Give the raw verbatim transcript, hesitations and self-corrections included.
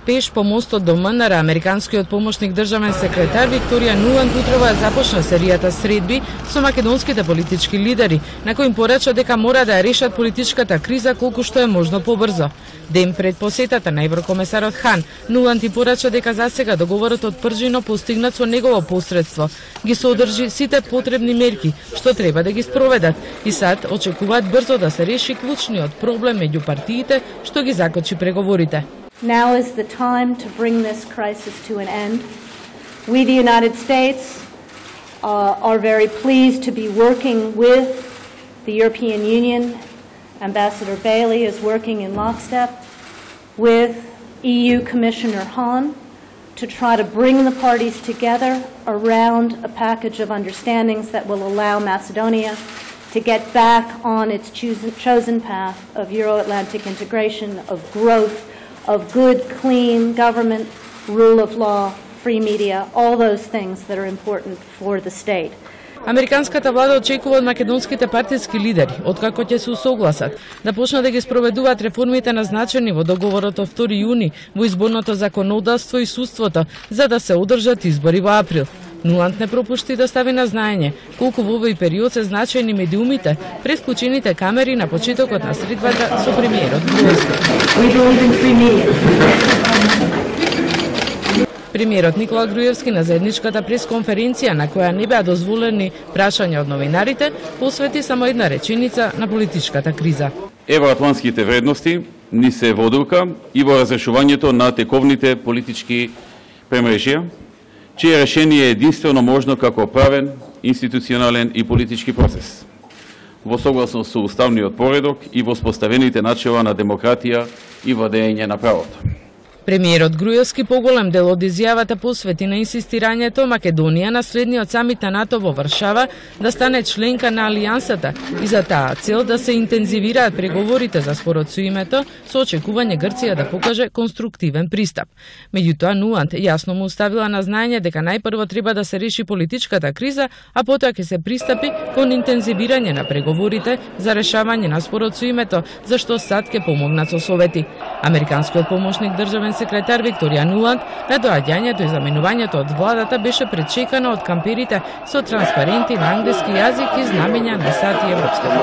Пеш по мостот до МНР, американскиот помошник државен секретар Викторија Нуланд утрева започна серијата средби со македонските политички лидери, на кои им порача дека мора да ја решат политичката криза колку што е можно побрзо. Ден пред посетата на еврокомесарот Хан, Нуланд и порача дека засега договорот од Пржино постигнат со негово посредство ги содржи сите потребни мерки што треба да ги спроведат и сад очекуваат брзо да се реши клучниот проблем меѓу партиите што ги закочи преговорите. Now is the time to bring this crisis to an end. We, the United States, uh, are very pleased to be working with the European Union. Ambassador Bailey is working in lockstep with E U Commissioner Hahn to try to bring the parties together around a package of understandings that will allow Macedonia to get back on its chosen path of Euro-Atlantic integration, of growth, of good, clean government, rule of law, free media, all those things that are important for the state. Американската влада очекува од македонските партиски лидери, откако ќе се усогласат, да почнат да ги спроведуваат реформите назначени во договорот од втори јуни во изборното законодавство и судството, за да се одржат избори во април. Нуланд не пропушти да стави на знаење колку во овој период се значајни медиумите пред вклучените камери на почетокот на средбата со премиерот Груевски. Премиерот Никола Груевски на заедничката пресконференција, на која не беа дозволени прашања од новинарите, посвети само една реченица на политичката криза. Евроатлантските вредности ни се во одлука и во разрешувањето на тековните политички премрежија, чие решение е единствено можно како правен, институционален и политички процес, во согласност со уставниот поредок и во споставените начела на демократија и владење на правото. Премиерот Груевски поголем дел од изјавата посвети на инсистирањето Македонија на следниот самит на НАТО во Варшава да стане членка на Алијансата и за таа цел да се интензивираат преговорите за спорот со името со очекување Грција да покаже конструктивен пристап. Меѓутоа Нуланд јасно му ставила на знаење дека најпрво треба да се реши политичката криза, а потоа ќе се пристапи кон интензивирање на преговорите за решавање на спорот со името, за што САД ќе помогнат со совети. Американскиот помошник државен секретар Викторија Нуланд на доаѓањето и заменувањето од владата беше пречекана од камперите со транспаренти на англиски јазик и знамења на САД и Европската.